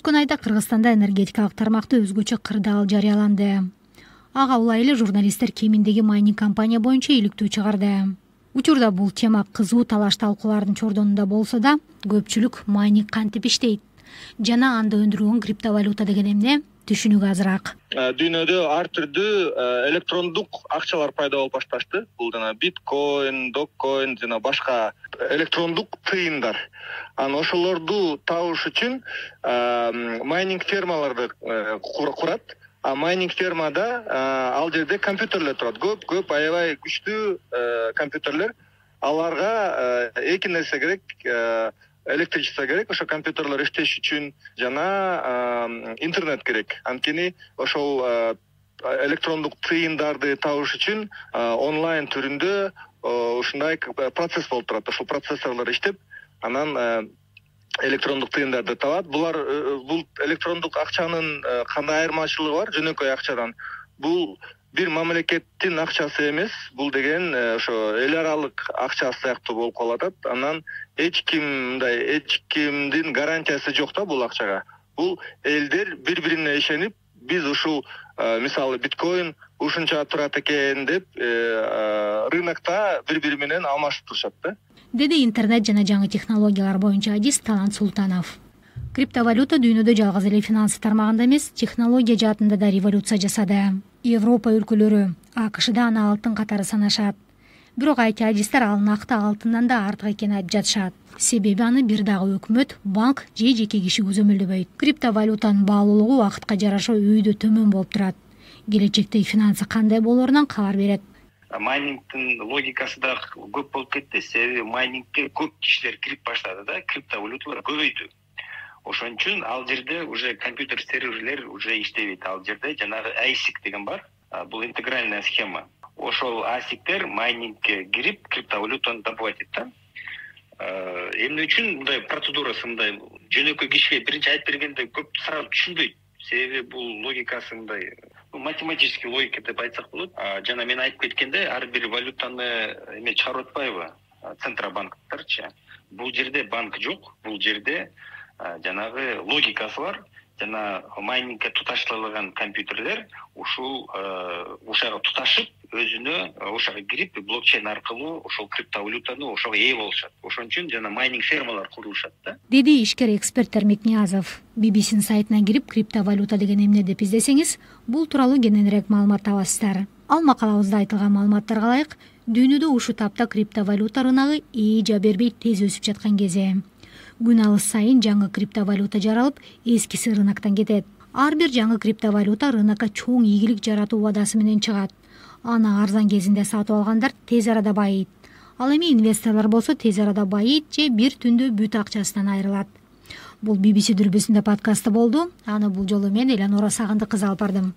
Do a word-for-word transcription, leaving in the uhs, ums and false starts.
Өткөн айда Кыргызстанда энергетикалык тармакта өзгөчө кырдаал жарыяланды. Ага улай эле журналисттер кеминдеги майнинг компания боюнча иликтөө чыгарды. Учурда бул тема кызуу талаш талкуулардын чордонунда болсо да, көпчүлүк майнинг кантип иштейт жана анда өндүрүлгөн криптовалюта деген эмне түшүнүгү азыраак. Дүйнөдө ар түрдүү электрондук акчалар пайда болуп башташты. Бул жана биткоин, доккоин жана башка электрондук тыйындар. Анан ошолорду табыш үчүн майнинг фермаларды курат. А майнинг фермада ал жерде компьютерлер турат. Көп көп аябай күчтүү компьютерлер. Аларга эки нерсе керек. Электричество керек, ошо компьютерлер иштеш үчүн жана интернет керек. Анткени ошол электрондук тыйындарды табыш үчүн онлайн түрүндө ушундай процесс болуп турат. Ошол процессорлор иштеп, анан электрондук тыйындарды табат. Булар бул электрондук акчанын кандай айырмачылыгы бар жөнөкөй акчадан? Бул бир мамлекеттин акчасы эмес, бул деген ошо эл аралык акча сыяктуу болуп калат. Анан эч ким мындай эч кимдин гарантиясы жок да бул акчага. Бул элдер бири-бирине ишенип, биз ушул мисалы биткоин ушунча турат экен деп рынокто бири-бири менен алмашып турушат да. Деди интернет жана жаңы технологиялар боюнча адист Талант Султанов. Криптовалюта дүйнөдө жалгыз эле финансы тармагында эмес, технология жаатында да революция жасады. Европа өлкөлөрү АКШда аны алтын катары санашат. Бирок айти адистер ал накты алтындан да артык экенин айтып жатышат. Себеби аны бир дагы өкмөт, банк же жеке киши көзөмөлдөбөйт. Криптовалютанын баалуулугу убакытка жараша өйдө төмөн болуп турат. Келечектеги финансы кандай болорунан кабар берет. Майнингдин логикасы да көп болуп кетти. Себеби майнингке көп кишилер кирип баштады да, криптовалюталар көбөйдү. Ошон үчүн ал жерде уже компьютер серверлер уже иштебейт. Ал жерде жанагы эйсик деген бар. Бул интегральная схема. Ошол эйсиктер майнингке кирип криптовалютаны добывать этет. Эмне үчүн мындай процедурасы мындай жөнөкөй кишиге биринчи айтып бергенде көп сразу түшүнбөйт. Себеби бул логикасы мындай математический логика деп айтсак болот. Жана мен айтып кеткенде ар бир валютаны эме чыгарып атпайбы? Центробанктарчы. Бул жерде банк жок. Бул жерде жанагы логикасы бар. Жана майнингке туташтырылган компьютерлер ушул ушага туташып, өзүнө ошого кирип, блокчейн аркылуу ошол криптовалютаны ошого ээ болушат. Ошон үчүн жана майнинг фермалар курулушат да. Деди ишкер эксперт Термек Ниязов. би би си сайтына кирип криптовалюта деген эмне деп издесеңиз, бул тууралуу кененирээк маалымат табасыздар. Ал макалабызда айтылган маалыматтарга ылайык, дүйнөдө ушул тапта криптовалюта рыногу эжа бербей тез өсүп жаткан кези. Күн алыс сайын жаңы криптовалюта жаралып, эскиси рыноктон кетет. Ар бир жаңы криптовалюта рынокко чоң ийгилик жаратуу убадасы менен чыгат. Аны арзан кезинде сатып алгандар тез арада байыйт. Ал эми инвесторлор болсо тез арада байыйт же бир түндө бүт акчасынан айрылат. Бул би би си дүрбүсүндө подкасты болду. Аны бул жолу мен Эланора Сагындык кызы алып бардым.